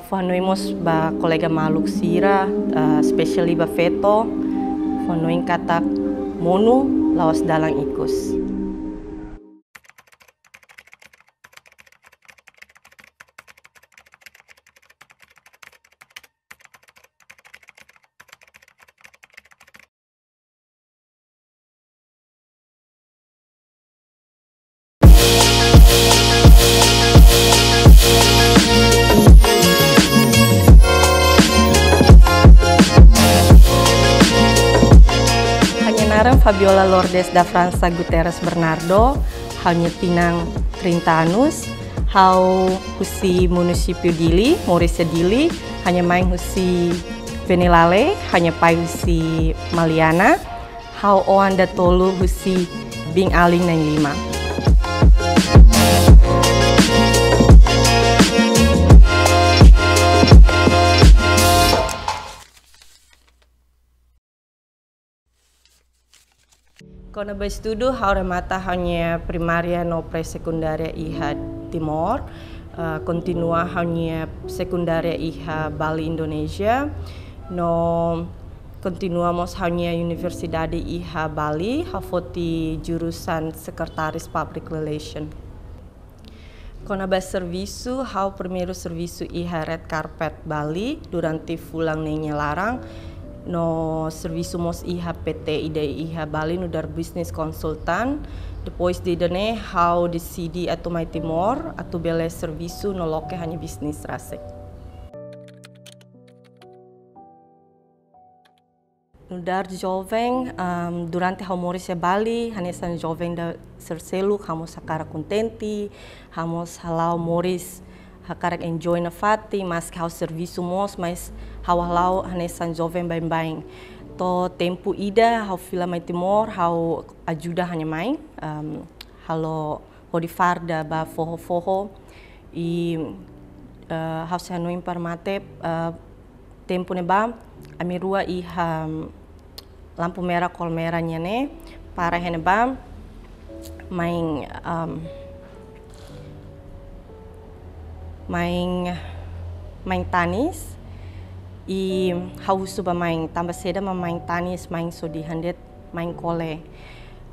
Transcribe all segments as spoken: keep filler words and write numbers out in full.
Fó hanoin mós ba kolega maluk sira, eh, especially ba feto, fó hanoin katak monu la'ós dalan ikus. Ha'u-nia naran Fabiola Lourdes da França Guterres Bernardo, ha'u-nia tinan trinta anos, ha'u husi munisípiu Dili, moris iha Dili, ha'u-nia main husi Venilale, ha'u-nia pai husi Maliana, ha'u oan datolu husi biin-alin na'in-lima. Kona-ba estudu, ha'u remata ha'u-nia primária no pré-sekundária iha Timor, eh, kontinua ha'u-nia sekundária iha Bali, Indonézia, no kontinua mós ha'u-nia universidade iha Bali, ha'u foti jurusan Sekretaris Public Relation. Kona-ba servisu, ha'u primeiru servisu iha Red Carpet Bali durante fulan neen nia laran. No servisu mós iha P T ida iha Bali nu'udar business consultant. Depois de ida-ne'e, ha'u deside atu mai Timor, atu bele servisu no loke ha'u-nia bisnis rasik. Nu'udar joven, em, durante ha'u moris iha Bali, hanesan joven ida sira seluk, ha'u mós hakarak kontente, ha'u mós hala'o moris hakarak enjoy nafatin, maski ha'u servisu mós, mas ha'u hala'o hanesan joven baibain. To'o tempu ida, ha'u fila mai Timor, ha'u ajuda ha'u-nia main, em, halo hodi farda ba foho-foho. I, eh, ha'u sei hanoin para mate, eh, tempu ne'ebá, ami rua iha lampu merah Colmera nian ne'e, para iha ne'ebá, main, em, main, main tanis. I ha'u husu ba main, tanba saida mak main tanis, main sodi handet, main kole.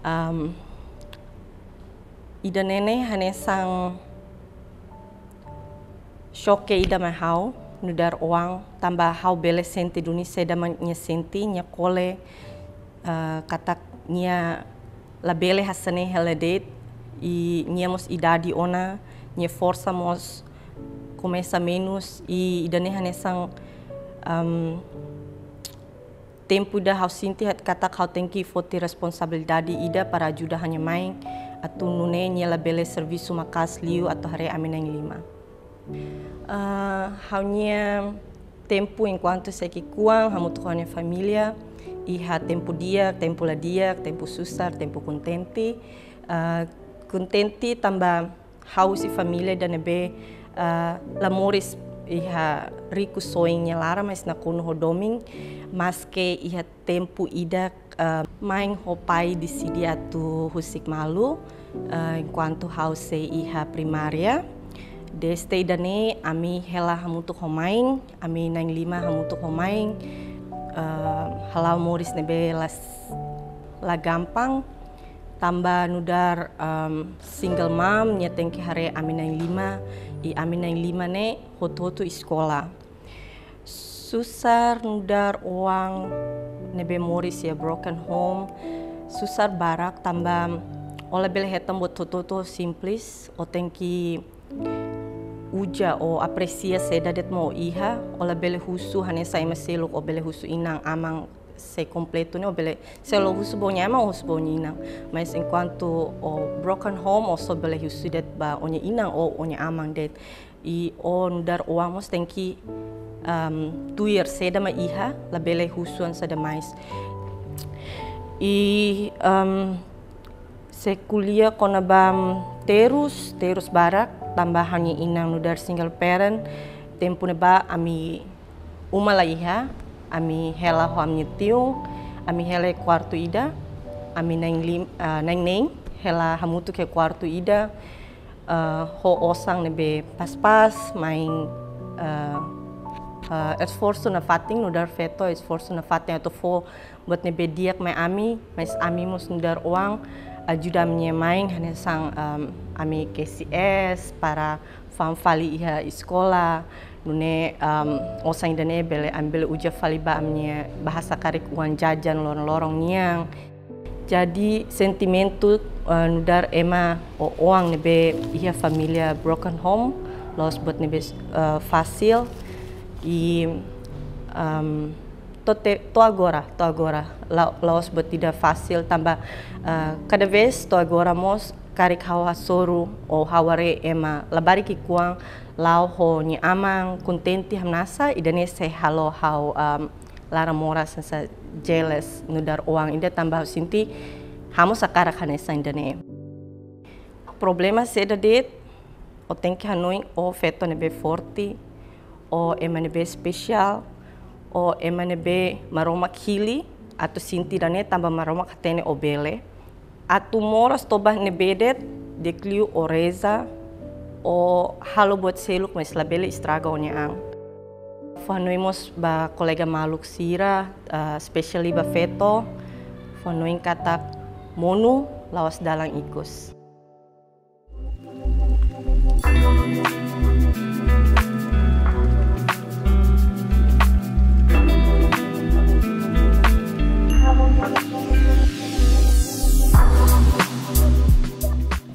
Em, Ida-ne'e ne'e hanesan xoke ida mai ha'u, nu'udar oan, tanba ha'u bele sente duni saida mak nia sente, nia kole, eh, katak nia labele hanesan ne'e hela de'it, i nia mós idade ona, nia forsa mós komesa menus, i ida-ne'e hanesan, em, tempu ida ha'u sente katak ha'u tenke foti responsabilidade ida para ajuda ha'u-nia main, atu nune'e nia labele servisu maka'as liu atu haree ami na'in-lima. Ah, ha'u-nia tempu enkuantu sei ki'ikoan hamutuk ho ha'u-nia família, iha tempu di'ak, tempu la di'ak, tempu susar, tempu kontente. Ah, kontente tanba ha'u husi família ida ne'ebé, ah, la moris iha riku-soin nia laran, mas nakonu ho domin, maske iha tempu ida, ah, main ho pai deside atu husik malu, ah, enkuantu ha'u sei iha primária. Dezde ida-ne'e ami hela hamutuk ho main, ami na'in-lima hamutuk ho main, ah, hala'o moris ne'ebé la s-, la gampang. Tanba nu'udar, em, single mom, nia tenke haree ami na'in-lima, i ami na'in-lima ne'e hotu-hotu eskola. Susar nu'udar oan ne'ebé moris iha broken home, susar barak tanba ó labele hetan buat hotu-hotu simples, ó tenke uza, ó apresia saida de'it mak ó iha, ó labele husu hanesan ema seluk, ó bele husu inan, aman, sei kompletu ne'e, ó bele, se ó la husu ba ó-nia aman, ó husu ba ó-nia inan. Mas enkuantu ó broken home, ó só bele husu de'it ba ó-nia inan ou ó-nia aman de'it. I ó nu'udar oan mós tenke, em, tuir saida mak iha, labele husu an saida mais. I, em, sei ko'alia kona-ba terus, terus barak, tanba ha'u-nia inan nu'udar single parent, tempu ne'ebá ami uma la iha, ami hela ho ami-nia tiun, ami hela iha kuartu ida, ami na'in-lim-, ah, na'in-neen, hela hamutuk iha kuartu ida, ah, ho osan ne'ebé pas-pas, main, ah, Eh, esforsu nafatin, nu'udar feto, esforsu nafatin atu fó buat ne'ebé di'ak mai ami, mas ami mós nu'udar oan ajuda ami-nia main, hanesan, em, ami K C S, para fa'an fali iha eskola, nune'e, em, osan ida-ne'e bele, ami bele uza fali ba ami-nia bahasa karik uang jajan loron-loron nian. Jadi, sentimentu, eh, nu'udar ema ou oan ne'ebé iha família broken home, la'ós buat ne'ebé, eh, fasil, i, em, to'o te-, to'o agora, to'o agora, la-, la'ós buat ida fasil tanba, eh, kada vez to'o agora mós karik ha'u hasoru ou ha'u haree ema labarik ki'ikoan la'o ho nia aman, kontente, hamnasa, ida-ne'e sei halo ha'u, em, laran moras hanesan jealous nu'udar oan ida tanba ha'u sente ha'u mós hakarak hanesan ida-ne'e. Problema saida de'it, ó tenke hanoin ó feto ne'ebé forte, ó ema ne'ebé espesiál, ó ema ne'ebé Maromak hili atu sente ida-ne'e tanba Maromak hatene ó bele. Atu moras to'o ba ne'ebé de'it, di'ak liu ó reza, ó halo buat seluk, mas labele estraga ó-nia an. Fó hanoin mós ba kolega maluk sira, ah, especially ba feto, fó hanoin katak monu la'ós dalan ikus.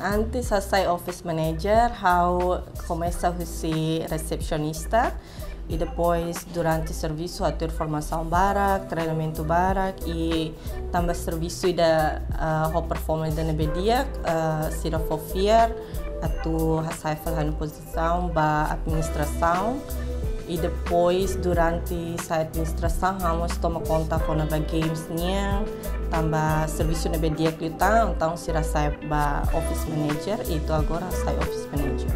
Antes hasai office manager, ha'u komesa husi resepsionista. I depois, durante servisu, hatudu formasaun barak, treinamentu barak, i tanba servisu ida, ah, ho performance ida ne'ebé di'ak, ah, sira fó fiar atu hasai fali ha'u-nia pozisaun ba administrasaun. I depois, durante sai administrasaun, ha'u mós toma konta kona-ba games nian, tanba servisu ne'ebé di'ak liután, entaun sira hasai ba office manager, i to'o agora hasai office manager.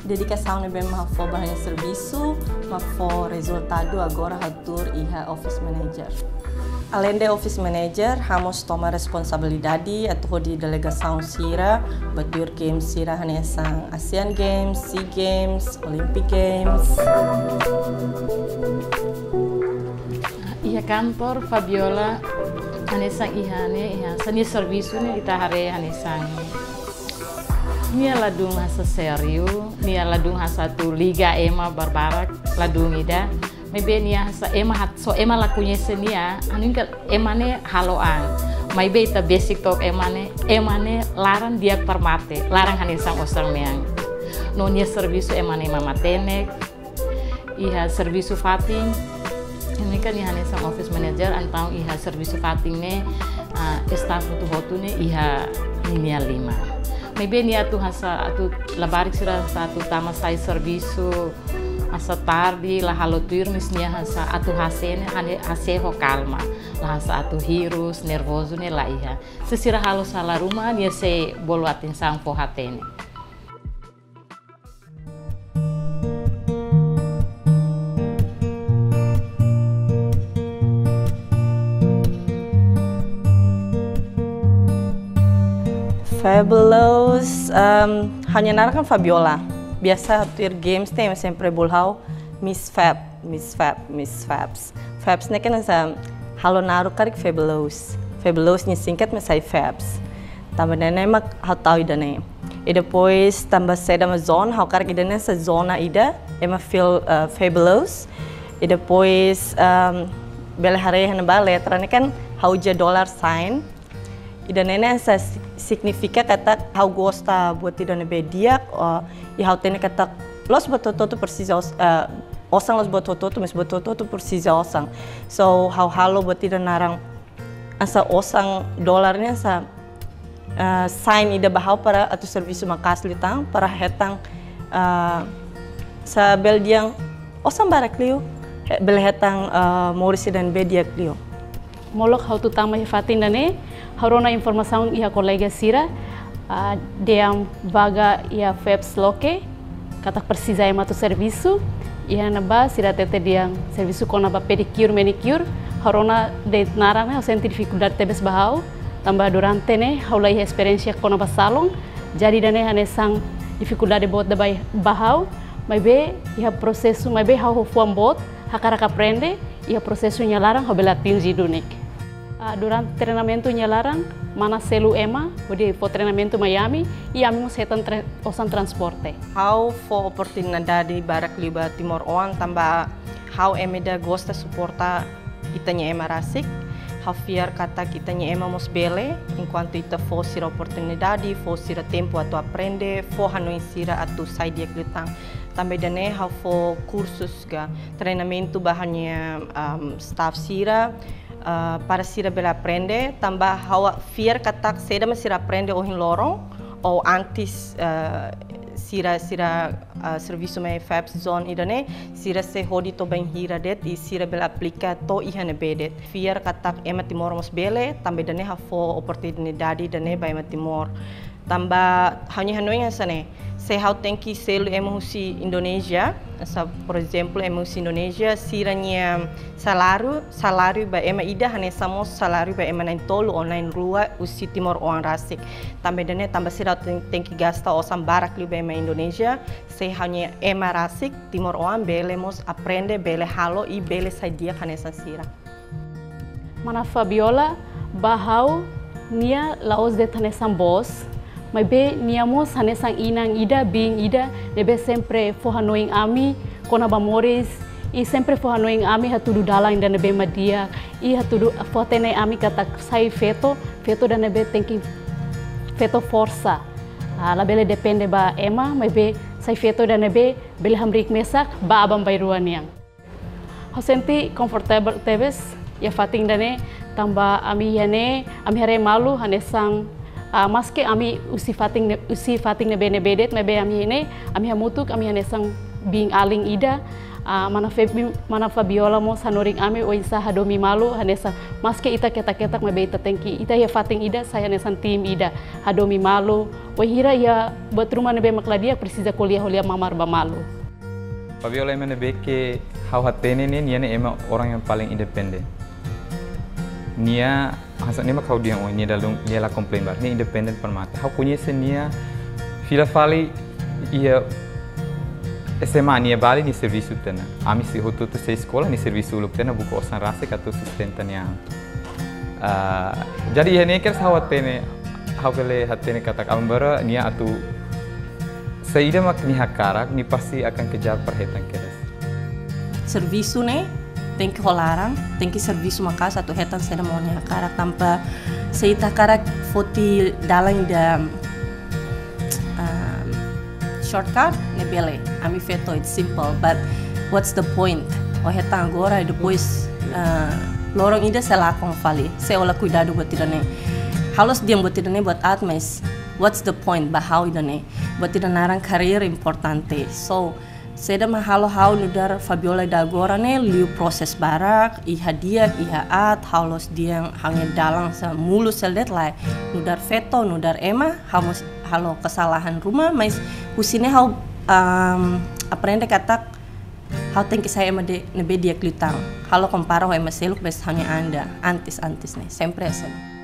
Dedikasaun ne'ebé mak ha'u fó ba ha'u-nia servisu, mak fó rezultadu, agora ha'u tuur iha office manager. Aleinde office manager, ha'u mós toma responsabilidade atu hodi delegasaun sira ba tuir games sira hanesan Asian Games, SEA Games, Olympic Games. Iha kantor Fabiola, hanesan iha ne'e, iha hanesan nia servisu ne'e ita haree hanesan nia ladún hanesan sériu, nia ladún hanesan atu liga ema barbarak, ladún ida. Maibé nia hanesan ema hat-, só ema la koñese nia, anu ka ema ne'e halo an. Maibé ita besik took ema ne'e, ema ne'e laran di'ak para mate, laran hanesan osan mean. No nia servisu ema ne'e ema matenek, iha servisu fatin, ne'e kan nia hanesan office manager, entaun iha servisu fatin ne'e, ah, staff hotu-hotu ne'e iha ninia liman. Maibé nia atu hanesan atu labarik sira hanesan atu tama sai servisu, hanesan tarde, la halo tuir, mas nia hanesan atu hasai ne'e, hane-, hasai ho kalma, la hanesan atu hirus, nervozu ne'e la iha. Se sira halo sala ruma, nia sei bolu atensaun fó-hatene. Fabulous, em, ha'u-nia naran kan Fabiola. Biasa tuir games ne'e sempre bolu ha'u Miss Fab, Miss Fab, Miss Fabs. Fabs ne'e kan hanesan halo naruk karik fabulous. Fabulous nia singkat mak sai Fabs. Tanba ne'e mak ha'u tau ida-ne'e. I depois tanba saida mak zona, ha'u hakarak ida-ne'e hanesan zona ida, ema feel, eh, fabulous. I depois, em, bele haree iha ne'ebá letra ne'e kan ha'u uza dollar sign. Ida-ne'e hanesan si-, signifika katak ha'u gosta buat ida ne'ebé di'ak, eh, i ha'u hatene katak la'ós buat hotu-hotu presiza os-, eh, osan, la'ós buat hotu-hotu, mas buat hotu-hotu presiza osan. So, ha'u halo buat ida naran hanesan osan dollar ne'e hanesan, eh, sign ida ba ha'u para atu servisu maka'as liután, para hetan, eh, hanesan bele dehan osan barak liu, he-, bele hetan, eh, moris ida ne'ebé di'ak liu. Molok ha'u atu tama iha fatin ida-ne'e, ha'u rona informasaun iha kolega sira, ah, dehan vaga iha Fabs loke, katak presiza ema atu servisu, iha ne'ebá sira hatete dehan servisu kona-ba pedicure, manicure, ha'u rona de'it naran ne'e ha'u sente difikuldade tebes ba ha'u, tanba durante ne'e ha'u la iha esperiénsia kona-ba salon, jadi ida-ne'e hanesan difikuldade boot ida ba, ba ha'u, Maibé iha prosesu, maibé ha'u ho fuan boot, hakarak aprende, iha prosesu nia laran ha'u bele atinje duni. Ah, durante treinamentu nia laran, mana selu ema, hodi fó treinamentu mai ami, i ami mós hetan tra-, osan transporte. Ha'u fó oportunidade barak liu ba timoroan, tanba ha'u ema ida gosta suporta ita-nia ema rasik. Ha'u fiar katak ita-nia ema mós bele, enkuantu ita fó sira oportunidade, fó sira tempu atu aprende, fó hanoin sira atu sai di'ak liután. Tanba ida-ne'e ha'u fó kursus ka treinamentu ba ha'u-nia, am, staff sira, ah, para sira bele aprende, tanba ha'u fiar katak saida mak sira aprende ohin loron, ou antes, ah, sira, sira, ah, servisu mai FAPS Zone ida-ne'e, sira sei hodi to'o bainhira de'it, i sira bele aplika to'o iha ne'ebé de'it. Fiar katak ema Timor mós bele, tanba ida-ne'e ha'u fó oportunidade ida-ne'e ba ema Timor. Tanba ha'u-nia hanoin hanesan ne'e, se ha'u tenke selu ema husi Indonézia, sa, por ezemplu, ema husi Indonézia, sira-nia saláriu, saláriu ba ema ida hanesan mós saláriu ba ema na'in-tolu ou na'in-rua husi timoroan rasik. Tanba ida-ne'e, tanba sira ten-, tenke gasta osan barak liu ba ema Indonézia, se ha'u-nia ema rasik, timoroan bele mós aprende, bele halo i bele sai di'ak hanesan sira. Mana Fabiola, ba ha'u, nia la'ós de'it hanesan bos, maibé nia mós hanesan inan ida, biin ida, ne'ebé sempre fó hanoin ami kona-ba moris, i sempre fó hanoin ami hatudu dalan ida ne'ebé mak di'ak, i hatudu fó-hatene ami katak sai feto, feto ida ne'ebé tenke feto forsa. Ah, labele depende ba ema, maibé sai feto ida ne'ebé bele hamriik mesak ba aban-bainrua nian. Ha'u sente comfortable tebes iha fatin ida-ne'e, tanba ami iha ne'e, ami haree malu hanesan, ah, maske ami husi fatin ne-, husi fatin ne'ebé-ne'ebé de'it, maibé ami iha ne'e, ami hamutuk, ami hanesan biin-alin ida, ah, mana Febi-, mana Fabiola mós hanorin ami oinsá hadomi malu, hanesan maske ita ketak-ketak, maibé ita tenke, ita iha fatin ida, sai hanesan tim ida, hadomi malu, wainhira iha buat ruma ne'ebé mak la di'ak, presiza ko'alia ho lia, mamar ba malu. Fabiola ema ne'ebé ke ha'u hatene ne'e, nia ne'e ema orang yang paling independen. Nia, hanesan ne'e mak ha'u dehan ohin, nia dala ruma, nia la komplain barak, nia independen para mate. Ha'u koñese nia fila fali iha S M A, nia bali nia servisu tiha ona. Ami sei hotu-hotu sei eskola, nia servisu uluk tiha ona, buka osan rasik atu sustenta nia an. Ah, jadi iha ne'e kedas ha'u hatene, ha'u bele hatene katak aban-bainrua nia atu saida mak nia hakarak, nia pasti akan kejar para hetan kedas. Servisu ne'e tenke ho laran, tenke servisu maka'as atu hetan saida mak nia hakarak, tanba se ita hakarak foti dalan ida, um, shortcut, ne'e bele, ami feto, it's simple, but what's the point? Ó hetan agora, i depois, uh, loron ida sei lakon fali, se ó la kuidadu buat ida-ne'e. Ha'u la'ós dehan buat ida-ne'e buat aat, mas what's the point ba ha'u ida-ne'e? Buat ida naran karir importante. So, saida mak halo ha'u nu'udar Fabiola ida agora ne'e, liu proses barak, iha di'ak, iha aat, ha'u la'ós dehan ha'u-nia dalan sá mulus hela de'it, lae. Nu'udar feto, nu'udar ema, ha'u mós halo kesalahan ruma, mas husi ne'e ha'u, um, aprende katak ha'u tenke sai ema ida ne'ebé di'ak liután. Ha'u la kompara ho ema seluk, mas ha'u-nia an ida, antes, antes ne'e, sempre hanesan ne'e.